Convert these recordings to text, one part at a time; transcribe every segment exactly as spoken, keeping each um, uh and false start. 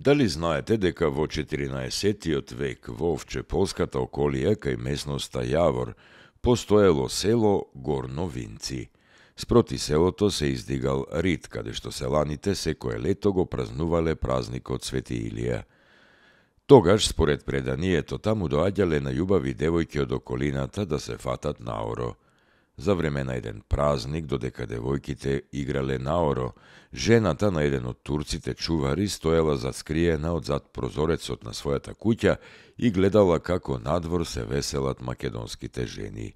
Дали знаете дека во четиринаесеттиот век во Овчеполската околија кај местноста Јавор постоело село Горно Винци? Спроти селото се издигал рид, каде што селаните секое лето го празнувале празникот Свети Илија. Тогаш, според преданието, таму доаѓале најубави девојки од околината да се фатат наоро. За време на еден празник, додека девојките играле наоро, жената на еден од турците чувари стоела заскриена од зад прозорецот на својата куќа и гледала како надвор се веселат македонските жени.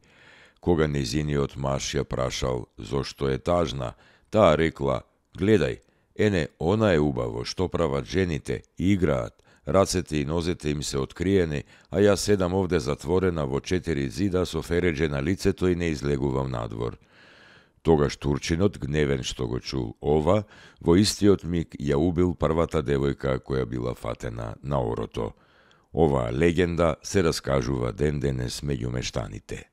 Кога нејзиниот маж ја прашал зошто е тажна, таа рекла: "Гледај, ене, она е убаво, што прават жените, играат, рацете и нозете им се откриени, а јас седам овде затворена во четири зида со фереџе на лицето и не излегувам надвор." Тогаш турчинот, гневен што го чул ова, во истиот миг ја убил првата девојка која била фатена на орото. Оваа легенда се раскажува ден денес меѓу мештаните.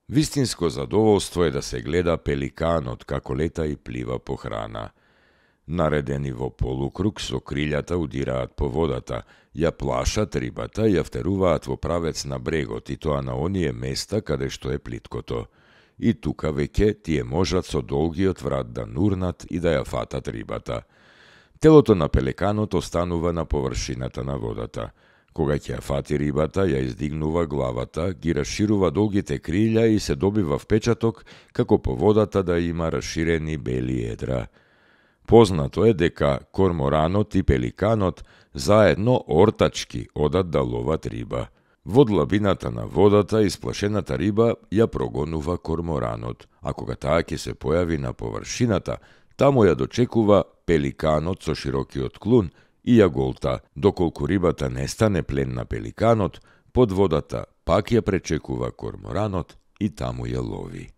Вистинско задоволство е да се гледа пеликанот како лета и плива по храна. Наредени во полукруг со крилјата удираат по водата, ја плашат рибата и ја втеруваат во правец на брегот, и тоа на оние места каде што е плиткото. И тука веќе тие можат со долгиот врат да нурнат и да ја фатат рибата. Телото на пеликанот останува на површината на водата. Кога ќе ја фати рибата, ја издигнува главата, ги расширува долгите крилја и се добива впечаток како по водата да има расширени бели едра. Познато е дека корморанот и пеликанот заедно ортачки одат да ловат риба. Во длабината на водата исплашената риба ја прогонува корморанот, а кога таа ќе се појави на површината, таму ја дочекува пеликанот со широкиот клун и ја голта, доколку рибата не стане плен на пеликанот, под водата пак ја пречекува корморанот и таму ја лови.